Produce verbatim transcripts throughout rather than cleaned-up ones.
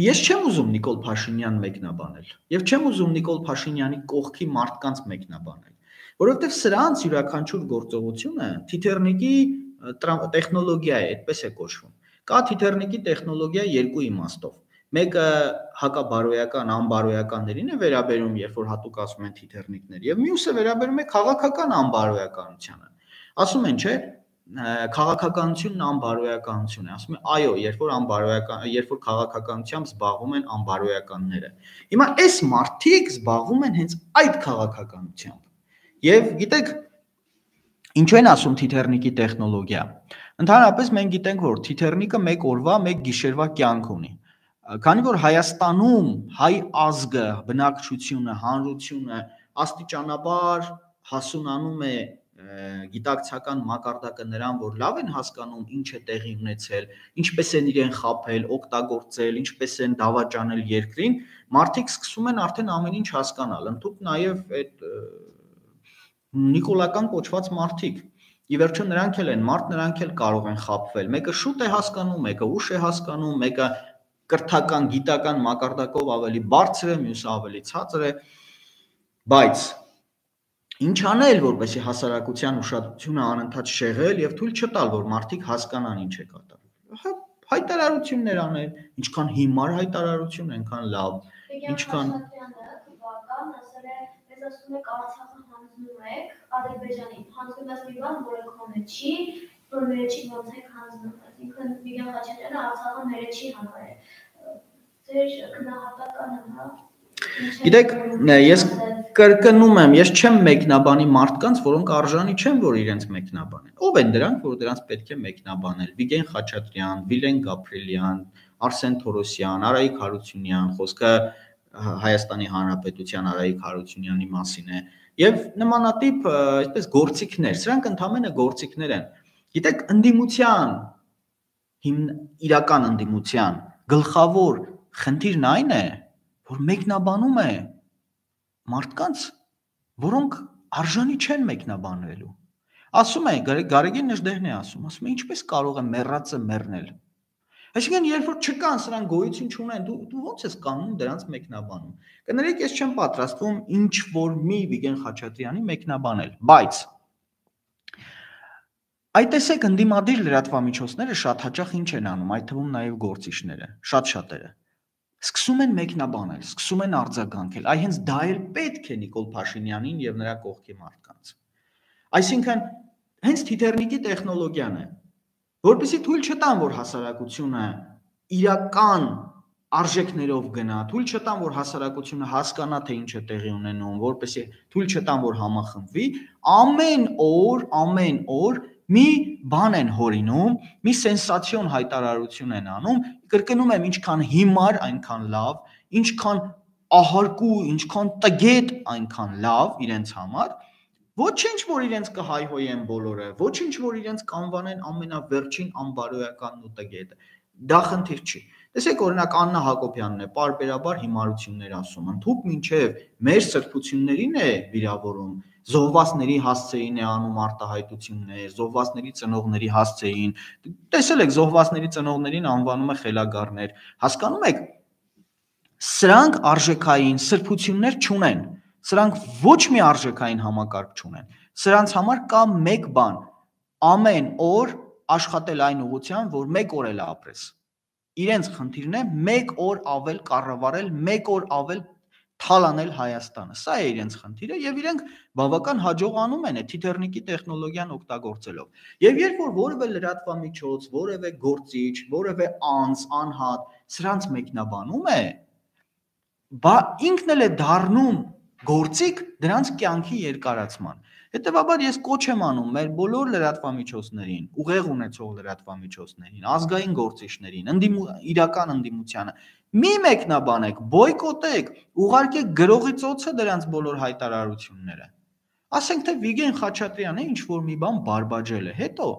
Ես չեմ ուզում Նիկոլ Փաշինյան մեկնաբանել եւ չեմ ուզում Նիկոլ Փաշինյանի կողքի մարդկանց մեկնաբանել, որովհետեւ սրանց յուրաքանչյուր գործողությունը թիթեռնիկի տեխնոլոգիա է, այդպես է կոչվում։ Կա թիթեռնիկի տեխնոլոգիա երկու իմաստով։ Մեկը հակաբարոյական, անբարոյականներին է վերաբերում, երբ որ հատուկ ասում են թիթեռնիկներ, եւ մյուսը վերաբերում է քաղաքական անբարոյականությանը։ Ասում են, չէ, քաղաքականությունն անբարոյականություն է, ասում են, այո, երբ որ անբարոյական, երբ որ քաղաքականությամբ զբաղվում են անբարոյականները։ Հիմա այս մարդիկ զբաղվում են հենց այդ քաղաքականությամբ։ Եվ գիտեք, ինչու են ասում թիթեռնիկի տեխնոլոգիա։ Ընդհանրապես մենք գիտենք, որ թիթեռնիկը մեկ օրվա, մեկ գիշերվա կյանք ունի։ Քանի որ Հայաստանում հայ ազգը, բնակչությունը, հանրությունը աստիճանաբար հասունանում է գիտակցական մակարդակը նրան, որ լավ են հասկանում ինչ է տեղի ունեցել, ինչպես են իրեն խաբել, օգտագործել, ինչպես են դավաճանել երկրին, մարդիկ սկսում են արդեն ամեն ինչ հասկանալ, ընդհանուր նաև այդ նիկոլական կոչված մարդիկ։ Ի վերջո նրանք էլ են մարդ, նրանք էլ կարող են խաբվել։ Մեկը շուտ է հասկանում, մեկը ուշ է հասկանում, մեկը կրթական, գիտական մակարդակով ավելի բարձր է, մյուսը ավելի ցածր է, բայց ինչ անել, որպեսզի հասարակության ուշադրությունը անընդհատ շեղել եւ թույլ չտալ, որ մարդիկ հասկանան ինչ է կատարվում։ Հայտարարություններ անել, ինչքան հիմար հայտարարություն, այնքան լավ, ինչքան ասում եք Արցախը հանձնում եք Ադրբեջանին, հանձնում եք մի բան, որը քոնը չի, որ մերը չի ոնց եք հանձնում, այսինքն Վիգեն Խաչատրյանը Արցախը մերը չի հանել։ Ձեր գնահատականը, հա։ Գիտեք, ես կրկնում եմ, ես չեմ մեկնաբանի մարդկանց, որոնք արժանի չեն, որ իրենց մեկնաբանեն։ Ով են դրանք, որ դրանց պետք է մեկնաբանել։ Վիգեն Խաչատրյան, Վիլեն Գաբրիելյան, Արսեն Թորոսյան, Արայիկ Հարությունյան, խոսքը Հայաստանի Հանրապետության Արայիկ Հարությունյանի մասին է, եւ նմանատիպ այսպես գործիքներ, սրանք ընդհանրապես գործիքներ են։ Գիտեք, ընդդիմության հիմն իրական ընդդիմության գլխավոր խնդիրն այն է, որ մեկնաբանում է մարդկանց, որոնք արժանի չեն մեկնաբանվելու։ Ասում է, Գարեգին Նժդեհն է ասում, ասում է, ինչպես կարող է մեռածը մեռնել։ Այսինքն, երբ որ չկան, սրանք գոյություն չունեն, դու դու ո՞նց ես կանում դրանց մեկնաբանում։ Կներեք, ես չեմ պատրաստվում ինչ որ մի Վիգեն Խաչատրյանի մեկնաբանել, բայց այդ տեսեք ընդդիմադիր լրատվամիջոցները շատ հաճախ ինչ են անում, այդ թվում նաև գործիչները, շատ-շատերը։ Սկսում են մեկնաբանել, սկսում են արձագանքել, այ հենց դա էլ պետք է Նիկոլ Փաշինյանին եւ նրա կողքի մարդկանց։ Այսինքն, հենց թիթեռնիկի տեխնոլոգիան է, որպեսզի թույլ չտան, որ հասարակությունը իրական արժեքներով գնա, թույլ չտան, որ հասարակությունը հասկանա, թե ինչ է տեղի ունենում, որպեսզի թույլ չտան, որ համախմբվի, ամեն օր, ամեն օր մի բան են հորինում, մի սենսացիոն հայտարարություն են անում, կրկնում եմ, ինչքան հիմար, այնքան լավ, ինչքան ահարկու, ինչքան տգետ, այնքան լավ իրենց համար, ոչինչ, որ իրենց կհայհոյեն բոլորը, ոչինչ, որ իրենց կանվանեն ամենավերջին անբարոյականն ու տգետը, դա խնդիր չի։ Տեսեք, օրինակ Աննա Հակոբյանն է պարբերաբար հիմարություններ ասում, ընդհուպ մինչև մեր սրբություններին է վիրավորում, զոհվածների հասցեին է անում արտահայտություններ, զոհվածների ծնողների հասցեին, տեսել եք զոհվածների ծնողներին անվանում է խելագարներ, հասկանում եք, սրանք արժեքային սրբություններ չունեն, սրանք ոչ մի արժեքային համակարգ չունեն, սրանց համար կա մեկ բան, ամեն օր աշխատել այն ուղղությամբ, որ մեկ օր էլ ապրես, իրենց խնդիրն է մեկ օր ավել կառավարել, մեկ օր ավել թալանել Հայաստանը, սա է իրենց խնդիրը եւ իրենք բավական հաջողանում են այդ թիթեռնիկի տեխնոլոգիան օգտագործելով։ Եվ երբ որ որևէ լրատվամիջոց, որևէ գործիչ, որևէ անձ, անհատ սրանց մեկնաբանում է, բա ինքն էլ է դառնում գործիք դրանց կյանքի երկարացման։ Հետևաբար ես կոչ եմ անում մեր բոլոր լրատվամիջոցներին, ուղեղ ունեցող լրատվամիջոցներին, ազգային գործիչներին, իրական ընդդիմությանը մի մեկնաբանեք, բոյկոտեք, ուղարկեք գրողի ծոցը դրանց բոլոր հայտարարությունները։ Ասենք թե Վիգեն Խաչատրյանը ինչ որ մի բան բարբաջել է, հետո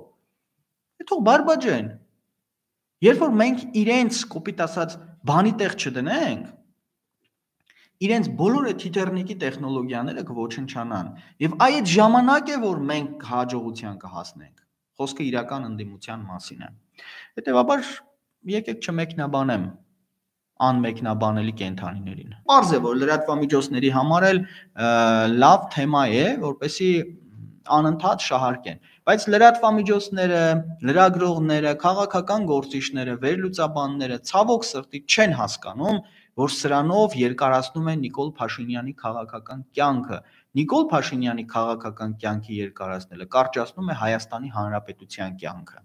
հետո բարբաջեն։ Երբ որ մենք իրենց կոպիտ ասած բանի տեղ չդնենք, իրենց բոլոր այդ թիթեռնիկի տեխնոլոգիաները կոչնչանան եւ այդ ժամանակ է որ մենք հաջողության կհասնենք խոսքը իրական ընդդիմության մասին է հետեւաբար եկեք չմեկնաբանեմ անմեկնաբանելի կենդանիներին։ Պարզ է, որ լրատվամիջոցների համար էլ լավ թեմա է, որպեսզի անընդհատ շահարկեն, բայց լրատվամիջոցները, լրագրողները, քաղաքական գործիչները, վերլուծաբանները ցավոք սրտի չեն հասկանում, որ սրանով երկարացնում են Նիկոլ Փաշինյանի քաղաքական կյանքը։ Նիկոլ Փաշինյանի քաղաքական կյանքի երկարացնելը կարճացնում է Հայաստանի Հանրապետության կյանքը։